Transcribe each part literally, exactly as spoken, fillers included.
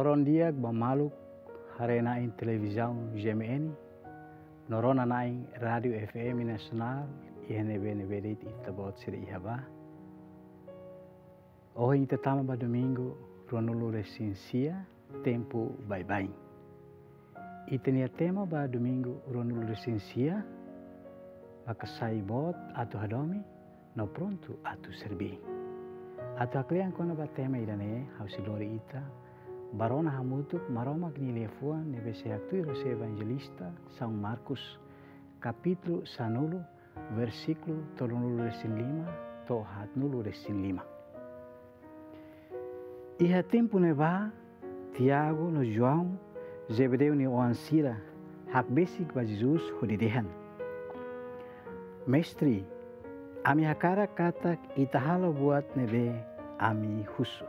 Loron di'ak ba maluk haree-na'in televizaun G M N, no rona-na'in rádiu F M nasionál, iha ne'ebé-ne'ebé de'it ita-boot sira iha ba. Ohin ita tama ba domingu ruanulu-resin-sia, tempu baibain. Ita-nia tema ba domingu ruanulu-resin-sia, maka sai boot atu hadomi, no prontu atu serbí. Atu haklean kona-ba tema ida-ne'e, ha'u sei lori ita ba rona hamutuk Maromak nia liafuan ne'ebé sei haktuir husi Evanjelista São Marcos, kapítulu sanulu, versíkulu tolunulu-resin-lima to'o haatnulu-resin-lima. Iha tempu ne'ebá, Tiago no João, Zebedeu nia oan sira, hakbesik ba Jesus hodi dehan: "Mestre, ami hakarak katak ita halo buat ne'ebé ami husu."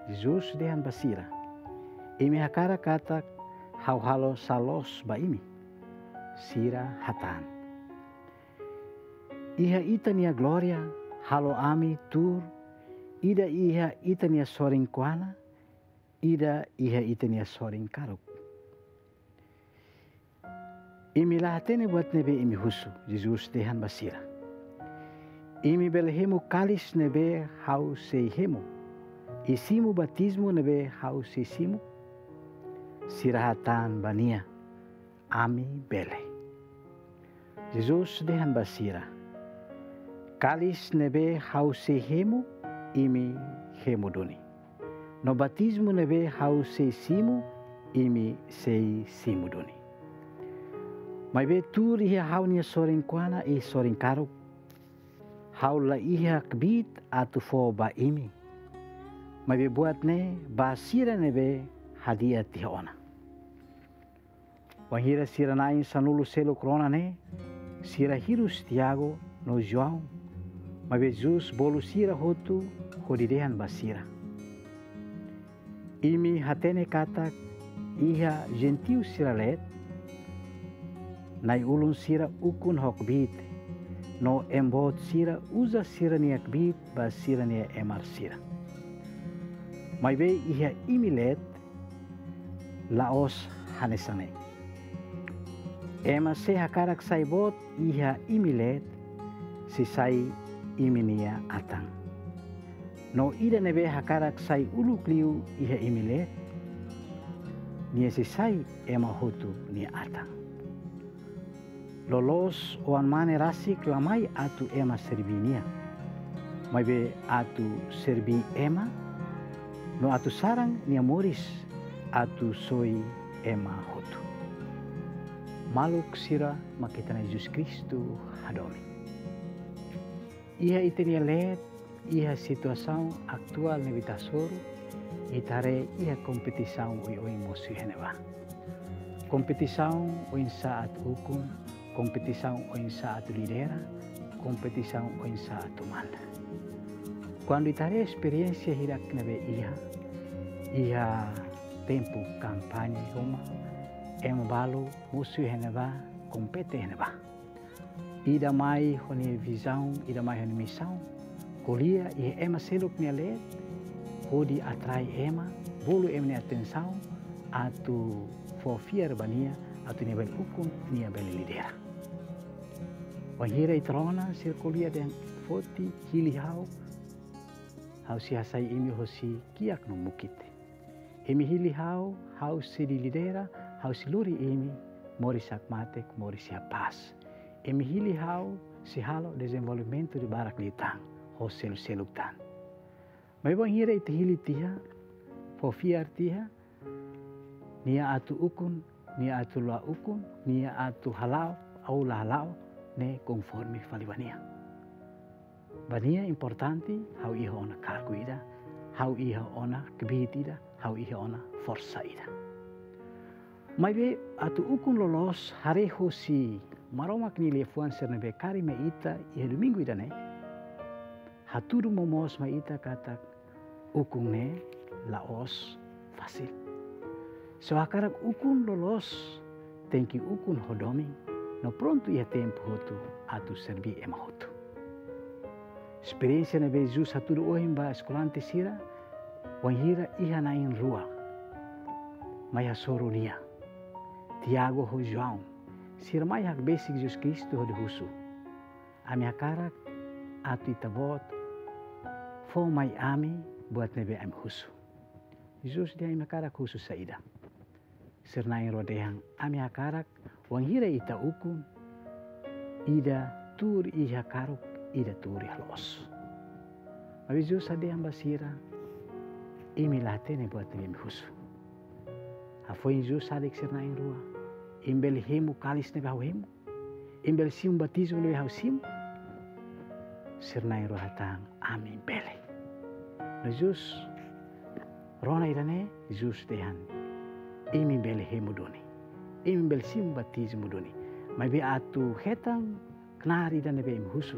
Jesus dehan ba sira: "Imi hakarak katak ha'u halo sá loos ba imi?" Sira hatán: "Iha ita-nia glória, halo ami tuur, ida iha ita-nia sorin kuana, ida iha ita-nia sorin karuk." "Imi la hatene buat ne'ebé imi husu," Jesus dehan ba sira. "Imi bele hemu kalis ne'ebé ha'u sei hemu, i simu batizmu ne'ebé ha'u sei simu?" Sira hatán ba nia: "Ami bele." Jesus dehan ba sira: "Kalis ne'ebé ha'u sei hemu, imi hemu duni. No batizmu ne'ebé ha'u sei simu, imi sei simu duni. Maibé tuur iha ha'u-nia sorin kuana i sorin karuk, ha'u la iha kbiit atu fó ba imi. Maibé buat ne'e ba sira ne'ebé hadi'a tiha ona." Wainhira sira na'in sanulu seluk rona ne'e, sira hirus Tiago no João. Maibé Jesus bolu sira hotu hodi dehan ba sira: "Imi hatene katak iha jentiu sira leet, na'i-ulun sira ukun ho kbiit, no ema boot sira uza sira-nia kbiit ba sira-nia emar sira. Maibé iha imi leet, la'ós hanesan ne'e. Ema sé hakarak sai boot iha imi leet, sei sai imi-nia atan. No ida ne'ebé hakarak sai uluk liu iha imi leet, nia sei sai ema hotu nia atan. Loloos Oan-Mane rasik la mai atu ema serbí nia, maibé atu serbí ema, no atu saran nia moris atu soi ema hotu." Maluk sira mak ita-nia Jesus Kristu hadomi. Iha ita-nia leet, iha situasaun atuál ne'ebé ita hasoru, ita haree iha kompetisaun oioin mosu iha ne'ebá. Kompetisaun oinsá atu ukun, kompetisaun oinsá atu lidera, kompetisaun oinsá atu manda. Kuandu ita haree esperiénsia hirak ne'ebé iha, iha tempu kampaña ruma, ema balu mosu iha ne'ebá, kompete iha ne'ebá. Ida mai ho nia vizaun, ida mai ho nia misaun, ko'alia iha ema seluk nia leet, hodi atrai ema, bolu ema nia atensaun, atu fó fiar ba nia, atu nia bele ukun, nia bele lidera. Wainhira ita rona sira ko'alia dehan foti, hili ha'u, ha'u sei hasai imi hosi kiak no mukit. Imi hili ha'u, ha'u sei lidera, ha'u sei lori imi moris hakmatek, moris iha pás. Imi hili ha'u, sei halo dezenvolvimentu ida barak liután, ho selu-seluk tan. Maibé wainhira ita hili tiha, fó fiar tiha, nia atu ukun, nia atu la ukun, nia atu hala'o, ou la hala'o, ne'e konforme fali ba nia. Ba nia importante, ha'u iha ona kargu ida, ha'u iha ona kbiit ida, ha'u iha ona forsa ida. Maibé atu ukun loloos, haree hosi Maromak nia liafuan sira ne'ebé kaer mai ita iha domingu ida-ne'e, hatudu momoos mai ita katak ukun ne'e la'ós fasil. Se hakarak ukun loloos, tenke ukun ho domin, no prontu iha tempu hotu atu serbí ema hotu. Esperiénsia ne'ebé Jesus hatudu ohin ba eskolante sira, wainhira iha na'in rua, mai hasoru Nia. Tiago ho João, sira mai hakbesik Jesus Kristu hodi husu: Ami hakarak atu Ita-Boot fó mai ami buat ne'ebé ami husu. Jesus dehan: Imi hakarak husu saida? Sira na'in-rua dehan: Ami hakarak, wainhira Ita ukun, ida tuur iha karuk, ida tuur iha loos. Maibé Jesus dehan ba sira: Imi la hatene buat ne'ebé imi husu. Hafoin Jesus dehan ba sira na'in-rua: Imi bele hemu kalis ne'ebé Ha'u hemu? Imi bele simu batizmu ne'ebé Ha'u simu? Sira na'in-rua hatán: Ami bele. No Jesus rona ida-ne'e, Jesus dehan: Imi bele hemu duni. Imi bele simu batizmu duni. Maibé atu hetan knaar ida ne'ebé imi husu,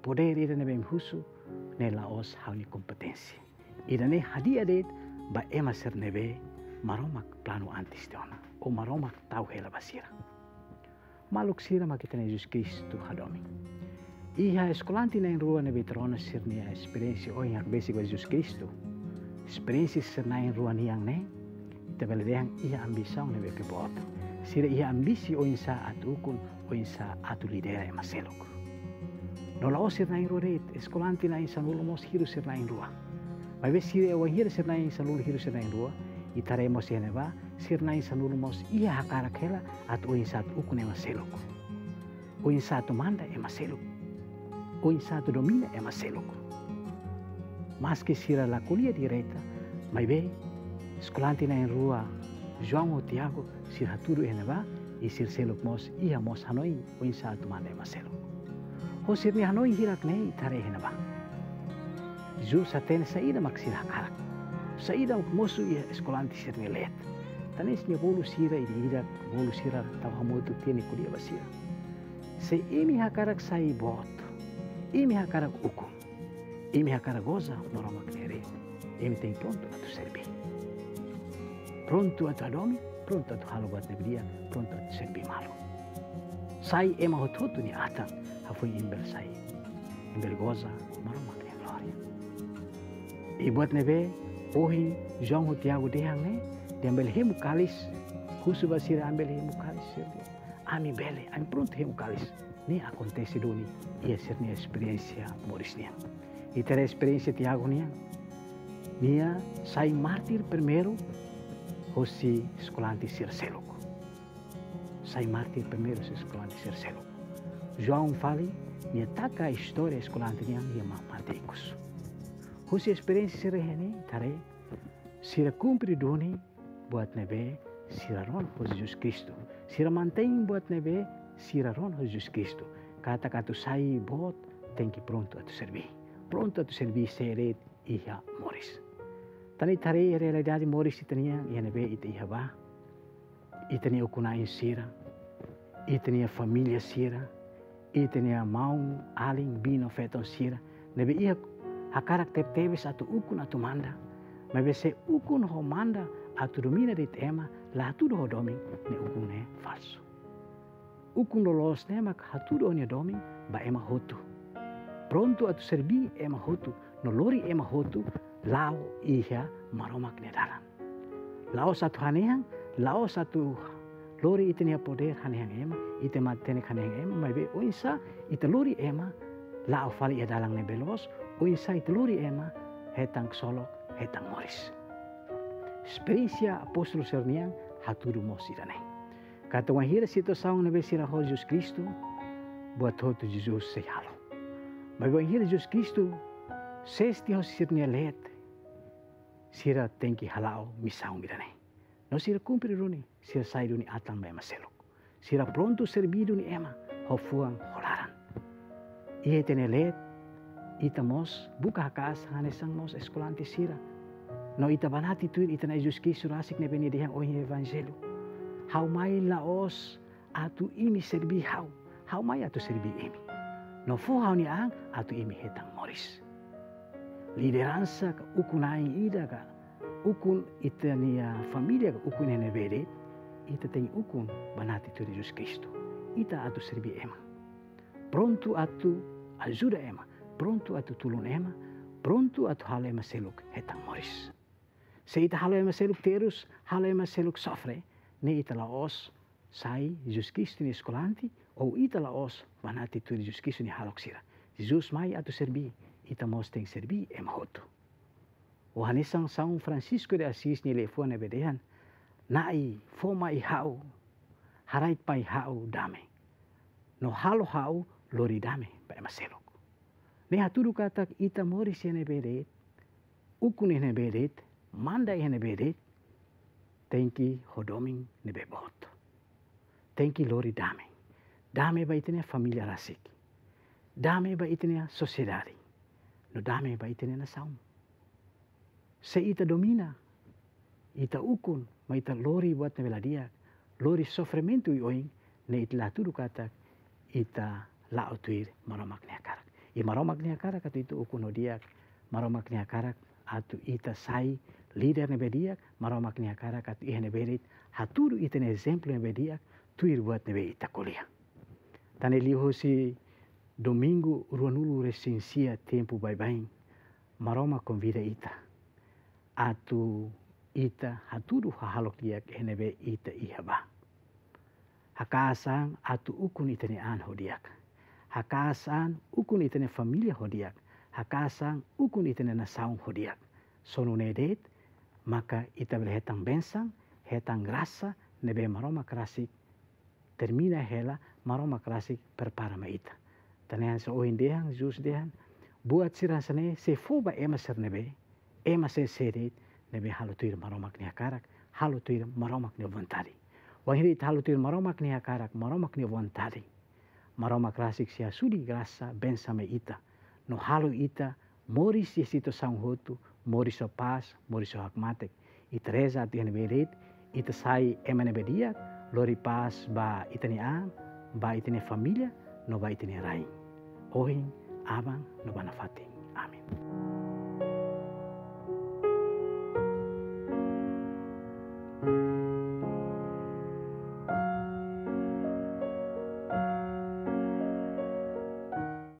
podér ida ne'ebé imi husu, ne'e la'ós Ha'u-nia kompeténsia. Ida-ne'e hadi'a de'it ba ema sira ne'ebé Maromak planu antes tiha ona, ou Maromak tau hela ba sira. Maluk sira, mak ita-nia Jesus Kristu hadomi. Iha eskolante na'in-rua ne'ebé ita rona sira-nia esperiénsia ohin hakbesik ho Jesus Kristu. Esperiénsia sira na'in-rua nian ne'e, ita bele dehan iha ambisaun ne'ebé ke boot. Sira iha ambisi oinsá atu ukun, oinsá atu lidera ema seluk. No la'ós sira na'in-rua de'it, eskolante na'in-sanulu mós hirus sira na'in-rua. Maibé sira, wainhira sira na'in-sanulu hirus sira na'in-rua, ita haree mós iha ne'ebá, sira na'in-sanulu mós iha hakarak hela atu oinsá atu ukun ema seluk, oinsá atu manda ema seluk, oinsá atu domina ema seluk. Maski sira la ko'alia direta, maibé eskolante na'in-rua, João ho Tiago, sira hatudu iha ne'ebá, i sira seluk mós iha mós hanoin oinsá atu manda ema seluk. Ho sira-nia hanoin hirak ne'e, ita haree iha ne'ebá, Jesus hatene saida mak sira hakarak, saida mak mosu iha eskolante sira-nia leet. Tan ne'e nia bolu sira ida-idak, bolu sira tau hamutuk tiha no ko'alia ba sira: Se imi hakarak sai boot, imi hakarak ukun, imi hakarak goza Maromak nia reinu, imi tenke prontu atu serbí. Prontu atu hadomi, prontu atu halo buat ne'ebé di'ak, prontu atu serbí malu. Sai ema hotu-hotu nia atan, hafoin imi bele sai, imi bele goza Maromak nia glória. I buat ne'ebé ohin João ho Tiago dehan ne'e, dehan bele hemu kalis, husu ba sira: Ami bele hemu kalis? Sira dehan: Ami bele, ami prontu hemu kalis. Ne'e akontese duni iha sira-nia esperiénsia moris nian. Ita haree esperiénsia Tiago nian. Nia sai mártir primeiru hosi eskolante sira seluk. Sai mártir primeiru hosi eskolante sira seluk. João fali, nia taka istória eskolante nian iha ma-, mate ikus. Hosi esperiénsia sira-ne'e, ita haree, sira kumpre duni buat ne'ebé sira rona ho Jesus Kristu. Sira mantein buat ne'ebé sira rona ho Jesus Kristu. Katak atu sai boot, tenke prontu atu serbí. Prontu atu serbí sé de'it iha moris. Tan ne'e ita haree realidade moris ita-nian iha ne'ebé ita iha ba. Ita-nia ukun-na'in sira, ita-nia família sira, ita-nia maun-alin, biin no feton sira ne'ebé iha hakarak tebetebes atu ukun, atu manda. Maibé se ukun ho manda atu domina de'it ema, la hatudu ho domin, ne'e ukun ne'e falsu. Ukun loloos ne'e mak hatudu o-nia domin ba ema hotu. Prontu atu serbí ema hotu, no lori ema hotu la'o iha Maromak nia dalan. La'ós atu hanehan, la'ós atu lori ita-nia podér hanehan ema, ita matenek hanehan ema, maibé oinsá ita lori ema la'o fali iha dalan ne'ebé loos, oinsá ita lori ema hetan ksolok, hetan moris. Esperiénsia apóstolu sira-nian hatudu mós ida-ne'e. Katak wainhira situasaun ne'ebé sira ho Jesus Kristu, buat hotu Jesus sei halo. Maibé wainhira Jesus Kristu sesti ho sira-nia leet, sira tenke hala'o misaun ida-ne'e. No sira kumpre duni, sira sai duni atan ba ema seluk. Sira prontu serbí duni ema, ho fuan, ho laran. Iha ita-nia leet, ita mós buka haka'as hanesan mós eskolante sira. No ita banati tuir ita-nia Jesus Kristu rasik ne'ebé nia dehan ohin Evanjellu: Ha'u mai la'ós atu imi serbí ha'u, ha'u mai atu serbí imi. No fó ha'u-nia an atu imi hetan moris. Lideransa ka ukun-na'in ida ka ukun ita-nia família ka ukun iha ne'ebé de'it, ita tenke ukun banati tuir Jesus Kristu. Ita atu serbí ema. Prontu atu ajuda ema, prontu atu tulun ema, prontu atu halo ema seluk hetan moris. Se ita halo ema seluk terus, halo ema seluk sofre, ne'e ita la'ós sai Jesus Kristu nia eskolante, ou ita la'ós banati tuir Jesus Kristu nia hahalok sira. Jesus mai atu serbí, ita mós tenke serbí ema hotu. Ou hanesan São Francisco de Assis nia liafuan ne'ebé dehan: Na'i, fó mai ha'u, haraik mai ha'u dame. No halo ha'u lori dame ba ema seluk. Ne'e hatudu katak ita moris iha ne'ebé de'it, ukun iha ne'ebé de'it, manda iha ne'ebé de'it, tenke ho domin ne'ebé boot. Tenke lori dame. Dame ba ita-nia família rasik. Dame ba ita-nia sosiedade. No dame ba ita-nia nasaun. Se ita domina ita ukun, maibé ita lori buat ne'ebé la di'ak, lori sofrimentu oioin, ne'e ita la hatudu katak ita la'o tuir Maromak nia hakarak. I Maromak nia hakarak atu ita ukun ho di'ak, Maromak nia hakarak atu ita sai líder ne'ebé di'ak, Maromak nia hakarak atu iha ne'ebé de'it hatudu ita-nia ezemplu ne'ebé di'ak, tuir buat ne'ebé ita ko'alia. Tan ne'e liuhosi domingu ruanulu-resin-sia tempu baibain, Maromak konvida ita atu ita hatudu hahalok di'ak iha ne'ebé ita iha ba. Hakaas an atu ukun ita-nia an ho di'ak. Hakaas an ukun ita-nia família ho di'ak. Hakaas an ukun ita-nia nasaun ho di'ak. Só nune'e de'it maka ita bele hetan bensaun, hetan grasa ne'ebé Maromak rasik termina hela, Maromak rasik prepara mai ita. Tan ne'e hanesan ohin dehan, Jesus dehan, buat sira hanesan ne'e sei fó ba ema sira ne'ebé, ema sé-sé de'it ne'ebé halo tuir Maromak nia hakarak, halo tuir Maromak nia vontade. Wainhira ita halo tuir Maromak nia hakarak, Maromak nia vontade, Maromak rasik sei husik grasa, bensaun mai ita, no halo ita moris iha situasaun hotu, moris ho pás, moris ho hakmatek. Ita reza atu iha ne'ebé de'it ita sai ema ne'ebé di'ak, lori pás ba ita-nia an, ba ita-nia família, no ba ita-nia rain. Ohin, aban, no ba nafatin. Amen.